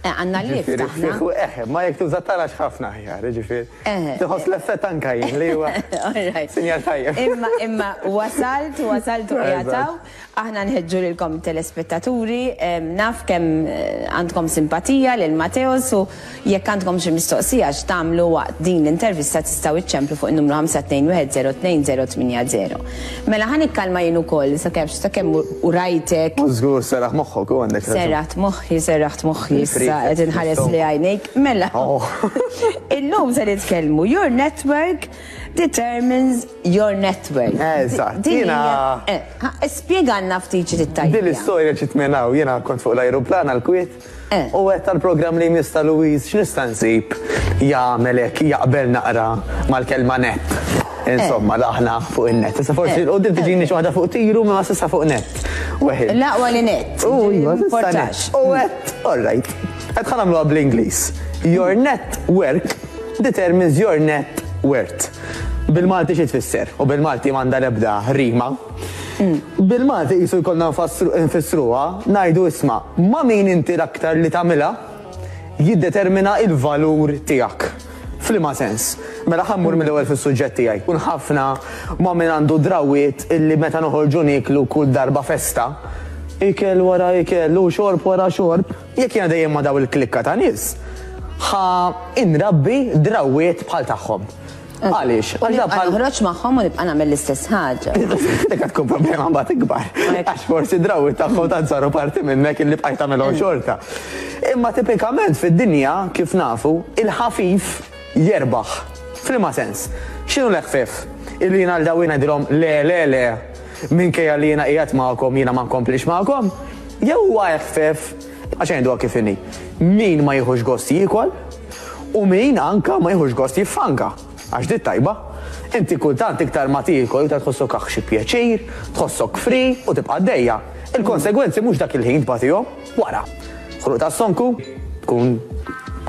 Eh, għandna l-lift aħna. Eh, ma jekk tuża tarax ħafna aħjar, ġifieri. Eh. Tħoss l-effett anka jien li huwa. Sinjal tajjeb. Imma imma wasalt, wasalt u jataw. Aħna nħeġġu lilkom telespettaturi, naf kemm eh, għandkom simpatija lil Mateos u jekk għandkom xi mistoqsija x'tagħmlu waqt din l-intervista tistgħu iċċemplu fuq in-numru 5210280. Mela ħa nikkalma jien ukoll sakemm sakemm u rajtek. U żgur serraħ moħħok u għandek. Serraħt moħħi, serraħt moħħi issa qed inħares li għajnejk. Mela. Oh. Illum se nitkellmu your network determines your network. Eżatt. Jiena. Eh, spjegalna ftit xi tittajja. Din l-istorja ġiet minn hawn, jiena kont fuq l-ajruplan għall-Kwiet. U għedt għall-programm li jmiss ta' Louise x'nista' nsib jagħmel hekk jaqbel naqra mal-kelma net. Insomma, l-aħna fuq in-net. Issa forsi 'l quddiem tiġini xi waħda fuq tiru imma s'issa fuq net. Weħid. L-aqwa li net. U iva, s'issa net. U għedt, all right. Għedt ħa nagħmluha bl-Ingliż. Your net work determines your net worth. Bil-Malti xi tfisser? U bil-Malti m'għandha l-ebda rima. Bil-Malti qisu jkollna nfissruha, ngħidu isma' ma' min inti l-aktar li tagħmilha jiddetermina l-valur tiegħek. F'liema sens? Mela ħa mmur mill-ewwel fis-suġġett tiegħi. Kun ħafna ma' min għandu drawwiet illi meta noħorġu nieklu kull darba festa, ikel wara ikel u xorb wara xorb, jekk jiena dejjem ma' dawn il-klikka ta' nies, ħa nrabbi drawwiet bħal tagħhom. Għaliex? Għax nibqa' noħroġ magħhom u nibqa' nagħmel l-istess ħaġa. Dik tkun problema mbagħad ikbar. Għax forsi drawwiet tagħhom tant saru parti minnek illi bqajt tagħmilhom xorta. Imma tipikament fid-dinja, kif nafu, il-ħafif jerbaħ. F'liema sens? X'inhu l-eħfef? Illi jiena għal dawn ngħidilhom le, le, le, minkejja li jiena qiegħed magħkom jiena ma nkomplix magħkom? Jew huwa eħfef, għax ngħiduha kif inhi, min ma jieħux gost jiekol, U min anka ma jieħux gost jiffanka. Għax di tajba. Inti kultant iktar ma tiekol iktar tħossok aħ xi pjaċir, tħossok free u tibqa' għaddejja. Il-konsegwenzi mhux dak il-ħin tbatihom, wara. Ħruq ta' stonku, tkun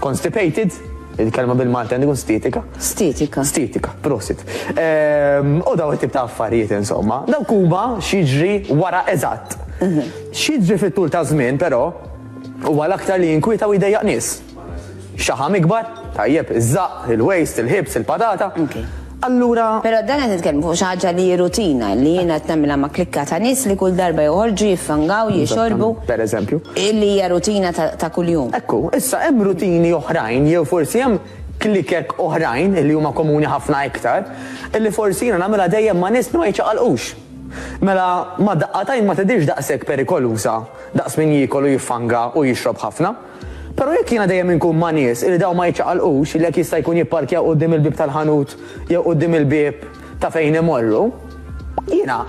constipated, il-kelma bil-Malti għandi tkun stietika. Stietika. Stietika, prosit. Ehm, u daw it-tip ta' affarijiet insomma. Dawk huma x'jiġri wara eżatt. X'jiġri fit-tul ta' żmien però huwa l-aktar li jinkwieta u jdejjaq nies. Xaħam ikbar, tajjeb, iż-żaqq, il-waist, il-hips, il-patata. Allura. Però dan qed nitkellmu fuq xi ħaġa li hi rutina, li jiena qed nagħmilha ma' klikka ta' nies li kull darba joħorġu, jiffangaw, jixorbu. Per eżempju. Li hija rutina ta' kuljum. Ekku, issa hemm rutini oħrajn jew forsi hemm klikek oħrajn li huma komuni ħafna iktar, illi forsi jiena nagħmilha dejjem ma' nies li ma jiċċaqalqux. Mela ma' daqqa t'għajn ma tidhirx daqshekk perikoluża daqs min jiekol u jiffanga u jixrob ħafna. Però jekk jiena dejjem inkun ma' nies illi dawn ma jiċċaqalqux, illi jekk jista' jkun jipparkjaw quddiem il-bieb tal-ħanut jew quddiem il-bieb ta' fejn imorru, jiena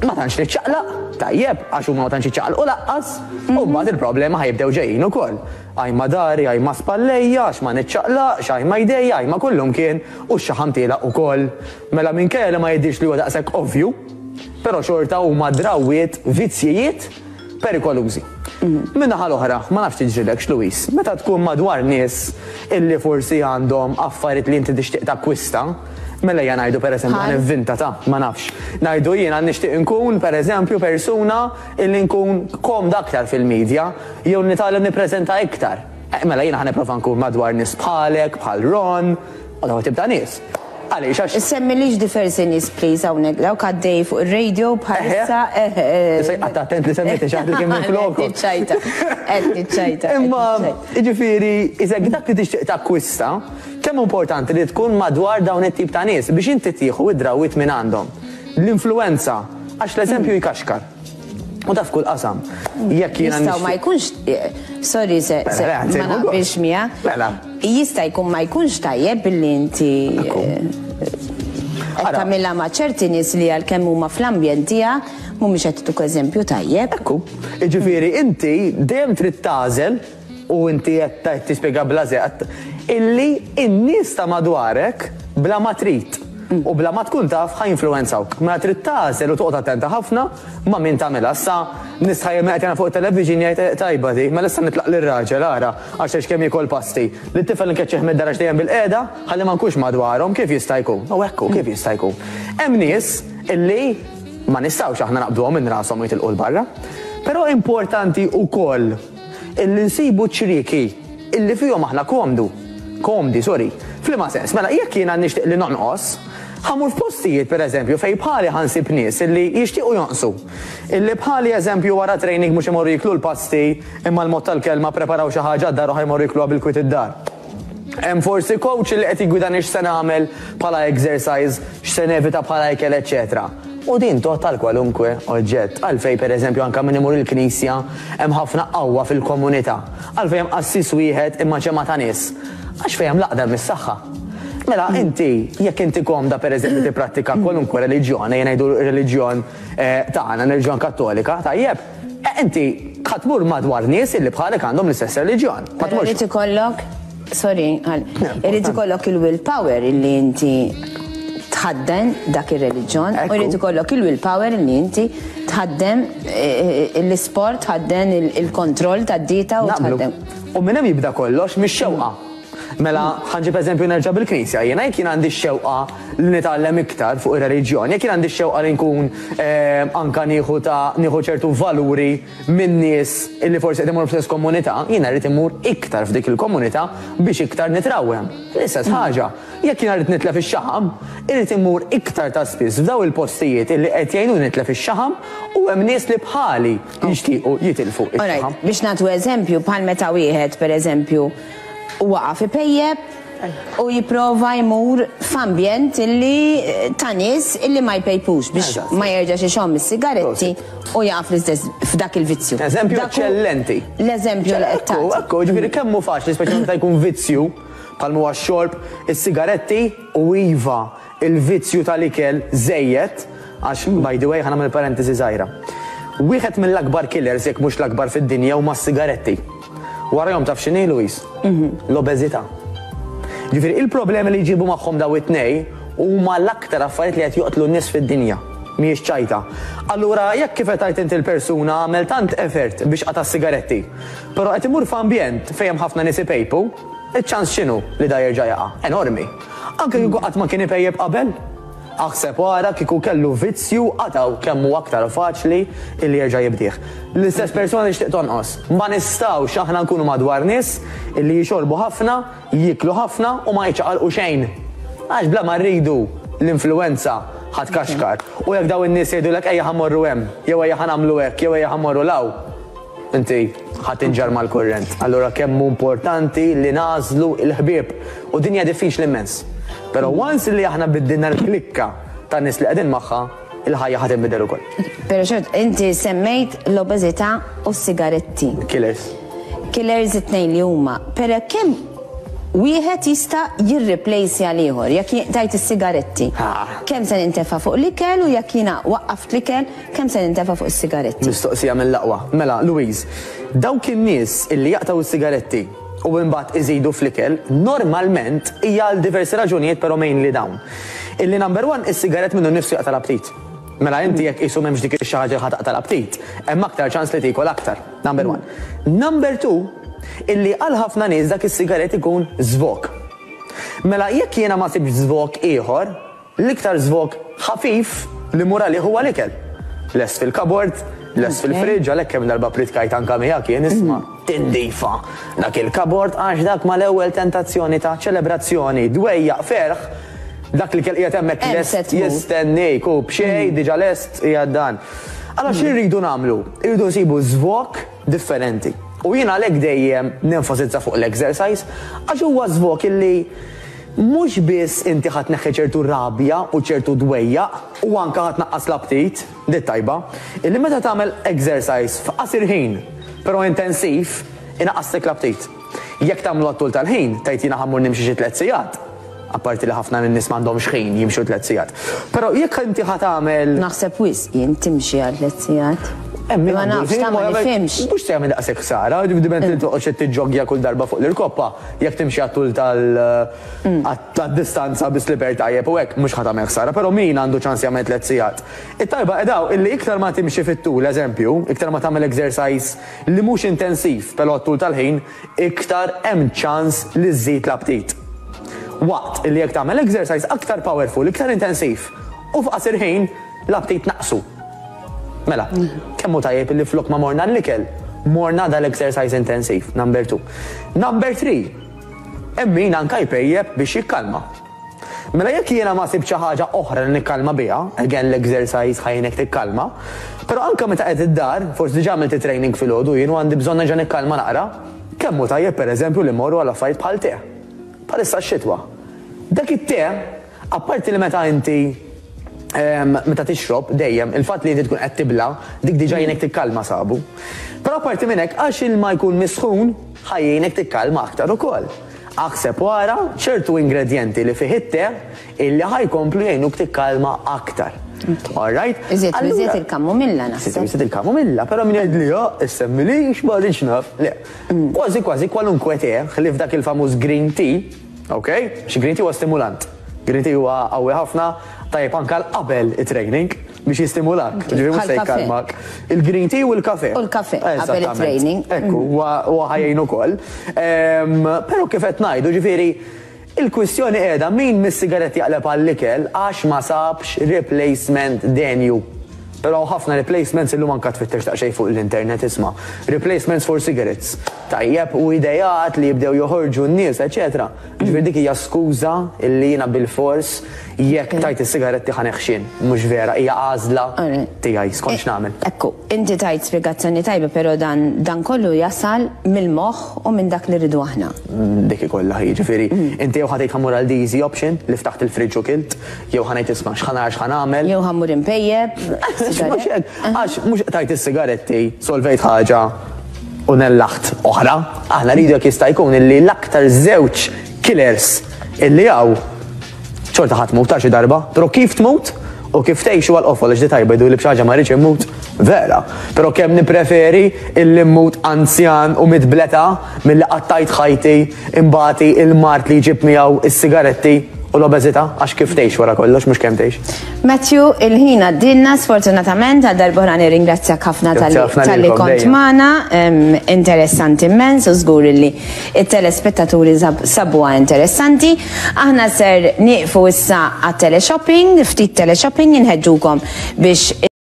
ma tantx niċċaqlaq, tajjeb, għax huma ma tantx jiċċaqalqu lanqas, u mbagħad il-problemi ħa jibdew ġejjin ukoll. Ajma dari, ajma spallejja, għax ma niċċaqlaqx, ajma jdejja, ajma kullumkien, u x-xaħam tielaq ukoll. Mela minkejja li ma jidhirx li huwa daqshekk ovvju, però xorta huma drawwiet, vizzjijiet, perikolużi. Min-naħa l-oħra, ma nafx tiġrilekx, Louise, meta tkun madwar nies illi forsi għandhom affarijiet li inti tixtieq takkwista, mela ejja ngħidu pereżempju ħa nivvinta ta' ma nafx. Ngħidu jiena nixtieq inkun pereżempju persuna illi nkun komda aktar fil-media jew nitgħallem nippreżenta iktar. Eh, mela jiena ħa nipprova nkun madwar nies bħalek, bħal Ron, u dawn it-tip ta' nies. Għaliex? Għax. Semmilix diversi nies please hawnhekk dawk għaddej fuq ir-radio bħalissa. Issa qatt attent li semmejt xi ħadd li kien minn floku. Qed niċċajta. Qed niċċajta. Imma jiġifieri isek dak li tixtieq takkwista, kemm importanti li tkun madwar dawn it-tip ta' nies biex inti tieħu id-drawwiet minn għandhom. L-influwenza, għax l-eżempju jkaxkar. U da f'kull qasam. Jekk jiena Jistgħu ma jkunx sorry se ma naqbilx miegħek. Mela. Jista' jkun ma jkunx tajjeb billi inti qed tagħmilha ma' ċerti nies li għalkemm huma fl-ambjent tiegħek mhumiex qed ituk eżempju tajjeb. Ekku. Jiġifieri inti dejjem trid tagħżel u inti qed tispjega bla żeqq illi n-nies ta' madwarek bla ma trid u bla ma tkun taf ħa jinfluwenzawk. Mela trid tagħżel u toqgħod attenta ħafna Ma' min tagħmilha issa? Nistħajjel min qed jara fuq it-television jgħid eh tajba di, mela issa nitlaq lir-raġel ara, għax tgħidx kemm jiekol pasti. Lit-tifel nkeċċih mid-dar għax dejjem bilqiegħda, ħalli ma nkunx madwarhom, kif jista' jkun? U hekk hu, kif jista' jkun? Hemm nies illi ma nistgħux aħna naqbduhom minn rashom u jitilqu 'l barra. Però importanti wkoll. Illi nsibu ċrieki illi fihom aħna komdu. Komdi, sorry. F'liema sens? Mela, jekk jiena nixtieq li nonqos, ħa mmur f'postijiet, per eżempju, fejn bħali ħa nsib nies illi jixtiequ jonqsu. Illi bħali, eżempju, wara training mhux imorru jieklu l-pasti, imma l-mod tal-kelma ppreparaw xi ħaġa d-dar u ħa jmorru jiekluha bil-kwiet id-dar. Hemm forsi coach li qed jiggwidani x'se nagħmel bħala exercise, x'se nevita bħala ikel eċċetera. U din tgħodd għal kwalunkwe oġġett. Għalfejn pereżempju anke min imur il-knisja hemm ħafna qawwa fil-komunità. Għalfejn hemm qassis wieħed imma ġemgħa ta' nies. Għax fejn hemm l-għaqda hemm is-saħħa. Mela inti jekk inti komda pereżempju tipprattika kwalunkwe reliġjon, ejja ngħidu r-reliġjon tagħna, r-reliġjon Kattolika, tajjeb, Inti ħa tmur madwar nies illi bħalek għandhom l-istess reliġjon. Ma Però tmurx. irid ikollok, sorry, għal, irid ikollok il-will power illi inti tħadden dak ir-reliġjon u Ekku. irid ikollok il-will power illi inti tħaddem eh, l-isport, tħadden il- il-kontroll tad-dieta u Naqblu. tħaddem. U minn hemm jibda kollox mix-xewqa. Mela, ħa nġib eżempju nerġa' bil-Knisja. Jiena jekk jien għandi x-xewqa li nitgħallem iktar fuq ir-reliġjon, jekk jien għandi x-xewqa li nkun anka nieħu ta' nieħu ċertu valuri minn nies illi forsi qed imorru fl-istess komunità, jiena rrid immur iktar f'dik il-komunità biex iktar nitrawwem. L-istess ħaġa, jekk jiena rrid nitlef ix-xaħam, irrid immur iktar ta' spiss f'daw il-postijiet illi qed jgħinuni nitlef ix-xaħam u hemm nies li bħali jixtiequ jitilfu x-xaħam. Alright, biex nagħtu eżempju, bħal meta wieħed, pereżempju, waqaf ipejjep u jipprova jmur f'ambjent illi ta' nies illi ma jpejpux biex ma jerġax ixomm is-sigaretti u jaqa' fl-istess f'dak il-vizzju. Eżempju eċċellenti. L-eżempju li qed tagħti. Ekku, ġifieri kemm hu faċli speċjalment meta jkun vizzju bħal huwa x-xorb, is-sigaretti u iva Il-vizzju tal-ikel żejjed, għax, by the way, ħa nagħmel parentesi żgħira. Wieħed mill-akbar killers, jekk mhux l-akbar fid-dinja, huma s-sigaretti. Warajhom taf x'inhi, Louise? L-obeżità. Ġifieri, il-problemi li jġibu magħhom dawn it-tnejn huma l-aktar affarijiet li qed joqtlu n-nies fid-dinja. Mhijiex ċajta. Allura, jekk kif qed tgħid inti l-persuna għamel tant effort biex qata' s-sigaretti, però qed imur f'ambjent fejn hemm ħafna nies ipejpu, Iċ-ċans x'inhu li da jerġa' jaqa'? Enormi. Anke kieku qatt ma kien ipejjep qabel. Aħseb u ara kieku kellu vizzju qatgħu kemm hu aktar faċli illi jerġa' jibdih. L-istess persuna tixtieq tonqos. Ma nistgħux aħna nkunu madwar nies illi jixorbu ħafna, jieklu ħafna u ma jiċċaqalqu xejn. Għax bla ma rridu l-influwenza ħa tkaxkar. U jekk dawn in-nies jgħidulek ejja ħa mmorru hemm, jew ejja ħa nagħmlu hekk, jew ejja ħa mmorru 'l hawn, Inti ħa tinġarr mal-kurrent. Allura kemm hu importanti li nagħżlu l-ħbieb. U din hija diffiċli immens. Però once li aħna biddilna l-klikka tan-nies li qegħdin magħha, il-ħajja ħa tinbidel ukoll. Però xort, inti semmejt l-obeżità u s-sigaretti. Killers. Killers it-tnejn li huma. Però kemm wieħed jista' jirriplejsja l-ieħor? Jekk tajt is-sigaretti, kemm se nintefa' fuq l-ikel u jekk jiena waqqaft l-ikel, Kemm se nintefa' fuq is-sigaretti? Mistoqsija mill-aqwa. Mela, Louise, dawk in-nies illi jaqtgħu s-sigaretti u imbagħad iżidu fl-ikel, normalment hija għal diversi raġunijiet però mainly dawn. Illi number one, is-sigarett minnu nnifsu jaqta' l-aptit. Mela inti jekk qisu m'hemmx dik ix-xi ħaġa li ħa taqta' l-aptit, hemm aktar ċans li tiekol aktar. Number one. Number two, illi għal ħafna nies dak is-sigarett ikun żvog. Mela jekk jiena ma sibtx żvog ieħor, L-iktar żvog ħafif li mmur għalih huwa l-ikel. Lest fil-cupboard, lest fil-fridge, għalhekk kemm darba pritkajt anke miegħek jien isma' tindifa dak il-cupboard għax dak mal-ewwel tentazzjoni ta' ċelebrazzjoni, dwejjaq, ferħ, dak l-ikel qiegħed hemmhekk lest jistennik u b'xejn diġà lest qiegħed dan. Allura xi rridu nagħmlu? Irridu nsibu żvog differenti. U jien għalhekk dejjem nenfasizza fuq l-exercise għax huwa żvog illi Mhux biss inti ħa tneħħi ċertu rabja u ċertu dwejjaq u anke ħa tnaqqas l-aptit, di t-tajba, illi meta tagħmel exercise f'qasir ħin, però intensiv, inaqqaslek l-aptit. Jekk tagħmlu għat-tul tal-ħin, tgħid jiena ħa mmur nimxi xi tlett sigħat, apparti li ħafna min-nies m'għandhomx ħin jimxu tlett sigħat. Però jekk inti ħa tagħmel. Naħseb wisq jien timxi għal tlett sigħat. Hemm min Ma għandu nafx, l-ħin ta' ma ma jagħmel nifhimx. Mhux se jagħmel daqshekk ħsara, diment li toqgħodx qed tiġġoggja kull darba fuq l-irkoppa. Jekk timxi għat-tul tal-distanza bi slipper tajjeb u hekk, mhux ħa tagħmel ħsara, però min għandu ċans jagħmel tlett sigħat? It-tajba qiegħda hawn illi iktar ma timxi fit-tul, eżempju, iktar ma tagħmel exercise li mhux intensiv però għat-tul tal-ħin, iktar hemm ċans li żżid l-aptit. Waqt illi jekk tagħmel exercise aktar powerful, iktar intensiv u f'qasir ħin, l-aptit tnaqqsu. Mela, kemm hu tajjeb illi flok ma morna l-ikel, Morna dal-exercise intensiv, number 2. Number 3, hemm min anka jpejjep biex jikkalma. Mela jekk jiena ma sibt xi ħaġa oħra li nikkalma biha, again l-exercise ħa jgħinek tikkalma, però anke meta qed id-dar, forsi diġà għamilt it-training filgħodu jien u għandi bżonn nerġa' nikkalma naqra, kemm hu tajjeb pereżempju li mmorru għal affarijiet bħal te. Bħalissa x-xitwa. Dak it-te, apparti li meta inti meta tixrob dejjem il-fatt li inti tkun qed tibla' dik diġà jgħinek tikkalma sabu. Però apparti minn hekk għax ilma jkun misħun ħa jgħinek tikkalma aktar ukoll. Aħseb u ara ċertu ingredjenti li fih it-te illi ħa jkomplu jgħinuk tikkalma aktar. All right? Iżjed u iżjed il-kamumilla naħseb. Iżjed u iżjed il-kamumilla, però min jgħidli oh, issemmilix ma rridx naf. Le. Kważi kważi kwalunkwe te, ħlief dak il-famuż green tea, ok? Għax green tea huwa stimulant. Green tea huwa qawwi ħafna, tajjeb anke għal qabel it-training. Biex jistimulak, ġifieri mhux se jkalmak. Il-green tea u l-kafe. U l-kafe, qabel it-training. Ekku, huwa ħajjin ukoll. Però kif qed ngħidu, ġifieri il-kwistjoni qiegħda min mis-sigaretti jaqleb għall-ikel għax ma sabx replacement denju. Però hawn ħafna replacements illum anke tfittex daqsxejn fuq l-internet isma'. Replacements for cigarettes. Tajjeb u ideat li jibdew joħorġu n-nies, eċetera. Jiġifieri dik hija skuża li jiena bilfors jekk tajt is-sigaretti ħa neħxien. Mhux vera, hija għażla tiegħi skont x'nagħmel. Ekku, inti tajt spjegazzjoni tajba però dan dan kollu jasal mill-moħħ u minn dak li rridu aħna. Dik hi kollha, jiġifieri inti jew ħa tgħid ħa mmur għal the easy option li ftaħt il-fridge u kilt, jew ħa ngħid isma' x'ħa nara x'ħa nagħmel. Jew ħa mmur inpejjep Mhux hekk, għax mhux qtajt is-sigaretti, solvejt ħaġa u nellaħt oħra. Aħna rridu jekk jista' jkun illi l-aktar żewġ killers illi hawn xorta ħa tmut ta' xi darba, però kif tmut u kif tgħix huwa l-qofol għax di tajba jgħidu li b'xi ħaġa ma rridx immut, vera. Però kemm nippreferi illi mmut anzjan u miet bl-età milli qattajt ħajti inbati l-mard li jġib miegħu s-sigaretti u l-obeżità għax kif tgħix wara kollox mhux kemm tgħix. Matthew, il-ħin għaddielna sfortunatament għal darb'oħra nirringrazzjak ħafna talli kont magħna, interessanti immens u żgur illi t-telespettaturi sabuha interessanti. Aħna ser nieqfu issa għat-teleshopping, ftit teleshopping inħeġġukom biex.